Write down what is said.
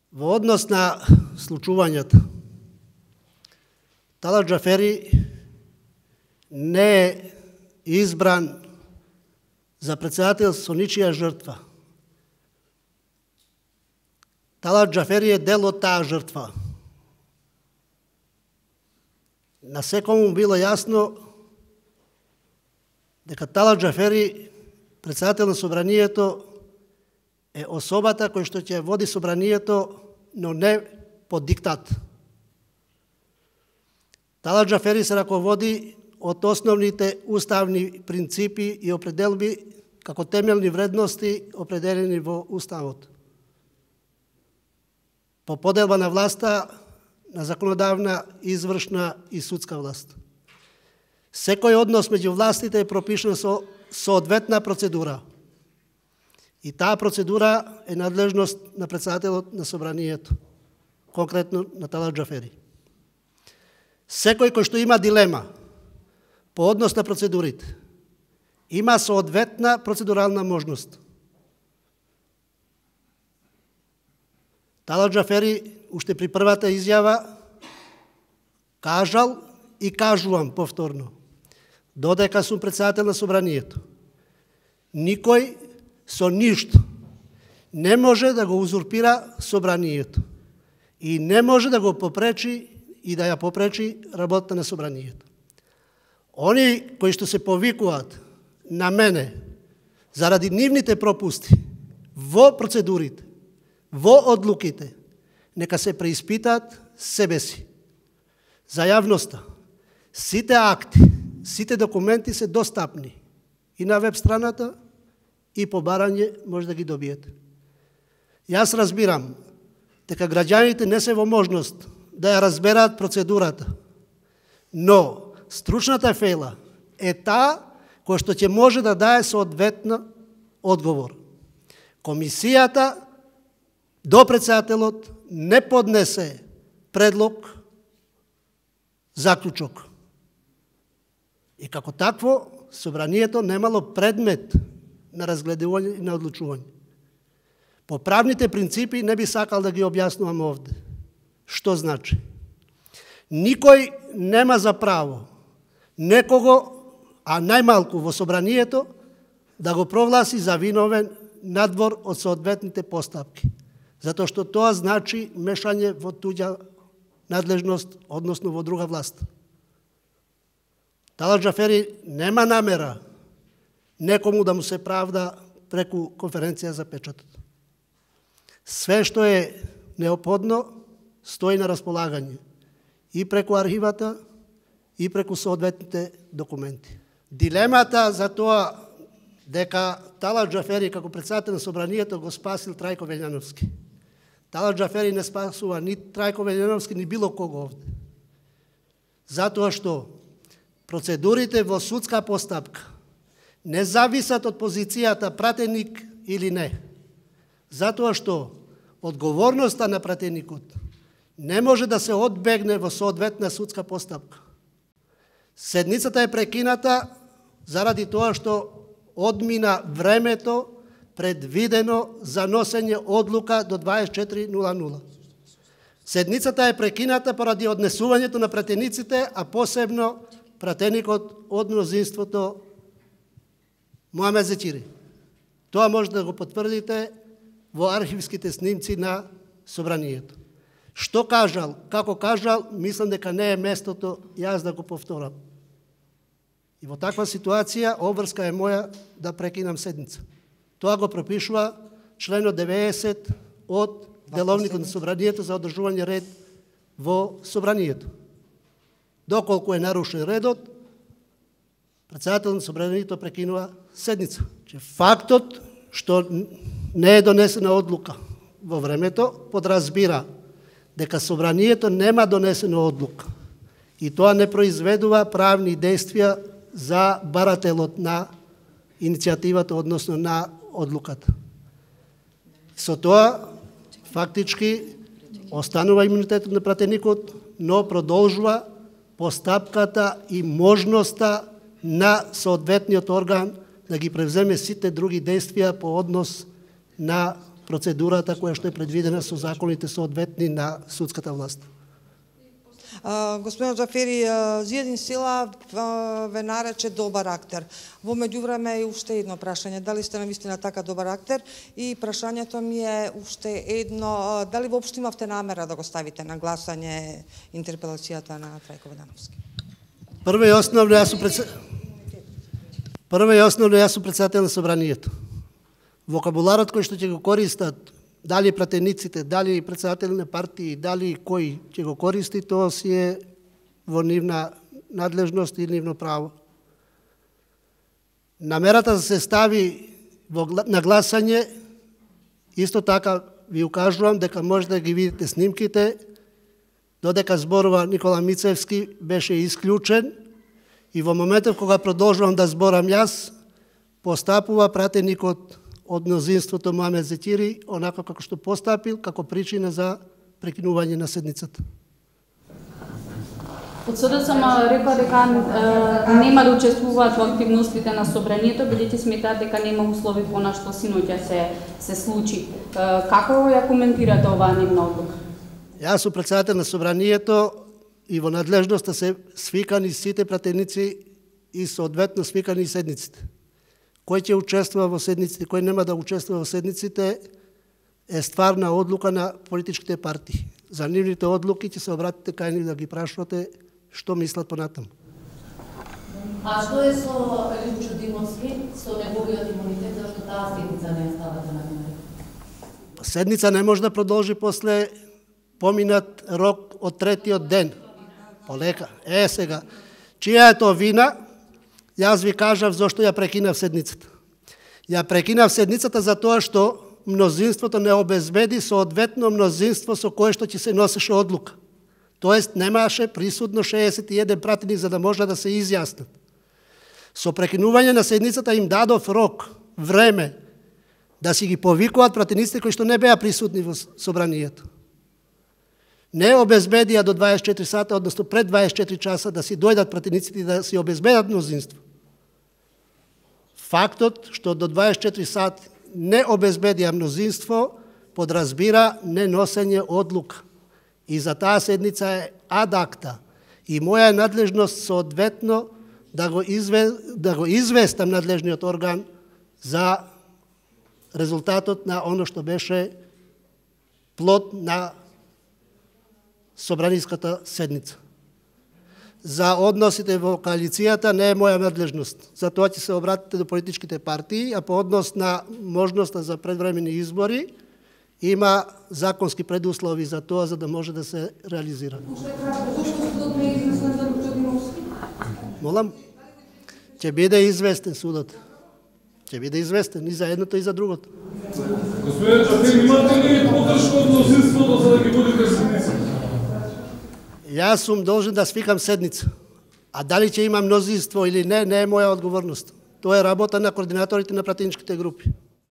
Во однос на случувањата, Талат Џафери не е избран за председател со ничија жртва. Талат Џафери е дел од таа жртва. На секому било јасно дека Талат Џафери, председател на собранието, е особата која што ќе води собранието, но не под диктат. Талат Џафери се раководи од основните уставни принципи и определби како темелни вредности определени во Уставот. По поделба на власта на законодавна, извршна и судска власт. Секој однос меѓу властите е пропишан со соодветна процедура. И таа процедура е надлежност на председателот на собранието, конкретно на Талат Џафери. Секој кој што има дилема по однос на процедурите, има соодветна процедурална можност. Талат Џафери уште при првата изјава кажал и кажувам повторно, додека сум председател на собранието, никој со ништо не може да го узурпира собранието и не може да го попречи и да ја попречи работата на собранието. Они кои што се повикуваат на мене заради нивните пропусти во процедурите, во одлуките, нека се преиспитаат себе си. За јавноста, сите акти, сите документи се достапни и на веб страната, и по барање може да ги добиете. Јас разбирам дека граѓаните не се во можност да ја разбераат процедурата, но стручната фела е таа која што ќе може да дае соодветна одговор. Комисијата до председателот не поднесе предлог, заклучок. И како такво, собранието немало предмет на разгледување и на одлучување. По правните принципи не би сакал да ги објаснувам овде. Што значи? Никој нема за право некого, а најмалку во собранието, да го провласи за виновен надвор од соодветните постапки. Затоа што тоа значи мешање во туѓа надлежност, односно во друга власт. Талат Џафери нема намера некому да му се правда преку конференција за печатот. Све што е неопходно стои на располагање и преку архивата и преку соодветните документи. Дилемата за тоа дека Талат Џафери како председател на собранието го спасил Трајко Велјановски. Талат Џафери не спасува ни Трајко Велјановски, ни било кого овде. Затоа што процедурите во судска постапка не зависат од позицијата пратеник или не. Затоа што одговорноста на пратеникот не може да се одбегне во соодветна судска постапка. Седницата е прекината заради тоа што одмина времето предвидено за носење одлука до 24:00. Седницата е прекината поради однесувањето на пратениците, а посебно пратеникот од мнозинството Муамед Зечири. Тоа може да го потврдите во архивските снимци на собранието. Што кажал, како кажал, мислам дека не е местото јас да го повторам. И во таква ситуација обврска е моја да прекинам седница. Тоа го пропишува членот 90 од Деловникот на собранието за одржување ред во собранието. Доколку е нарушен редот, председател на собранието прекинува седница. Фактот што не е донесена одлука во времето подразбира дека собранието нема донесена одлука и тоа не произведува правни действија за барателот на иницијативата, односно на одлуката. Со тоа, фактички, останува имунитетот на пратеникот, но продолжува постапката и можноста на соодветниот орган да ги превземе сите други действија по однос на процедурата која што е предвидена со законите соодветни на судската власт. Господин Џафери, Зијадин Сила ве нарече добар актер. Во меѓувреме е уште едно прашање. Дали сте навистина така добар актер? И прашањето ми е уште едно, дали воопшто имавте намера да го ставите на гласање интерпелацијата на Трајко Ведановски? Прво и основно, јас сум председател на собранието. Вокабуларот кој што ќе го користат, дали пратениците, дали председатели на партии, дали кој ќе го користи, тоа си е во нивна надлежност и нивно право. Намерата да се стави на гласање, исто така ви укажувам дека може да ги видите снимките, додека зборува Никола Мицевски беше исклучен и во моментот кога продолжувам да зборам јас, постапува пратеникот од мнозинството Муамед Зетири, онако како што постапил, како причина за прекинување на седницата. Од СДСМ рекла дека нема да учествуваат во активностите на собранието, бидејќи сметаат дека нема услови по она што синоќа се случи. Како ја коментирате оваа нивна одлука? Јас сум председател на собранието и во надлежноста се свикани сите пратеници и соодветно свикани седниците. Кој ќе учествува во седниците, кој нема да учествува во седниците, е стварна одлука на политичките партии. За нивните одлуки ќе се обратите кај нив да ги прашувате што мислат понатаму. А што е со Лјупчо Димовски, со неговиот имунитет, зашто таа седница не ставате на дневен ред? Седница не може да продолжи после поминат рок од третиот ден. Полека. Сега, чија е тоа вина? Јас ви кажав зашто ја прекинав седницата. Ја прекинав седницата за тоа што мнозинството не обезбеди соодветно мнозинство со кое што ќе се носеше одлука. Тоест немаше присутно 61 пратеник за да може да се изјаснат. Со прекинување на седницата им дадов рок, време, да си ги повикуваат пратениците кои што не беа присутни во собранието. Не обезбедија до 24 сата, односно пред 24 часа да си дојдат пратениците и да си обезбедат мнозинство. Фактот што до 24 сати не обезбедија мнозинство подразбира неносење одлука. И за таа седница е ад акта. И моја надлежност соодветно да го известам надлежниот орган за резултатот на оно што беше плод на собраниската седница. За односите во коалицијата не е моја надлежност. За тоа ќе се обратите до политичките партии, а по однос на можноста за предвремени избори има законски предуслови за тоа за да може да се реализира. Молам, ќе биде известен судот. Ќе биде известен и за едното и за другото. Господин Џафери, имате ли подршка од мнозинството за да ги водите седница? Јас сум должен да свикам седница. А дали ќе има мнозинство или не, не е моја одговорност. Тоа е работа на координаторите на пратеничките групи.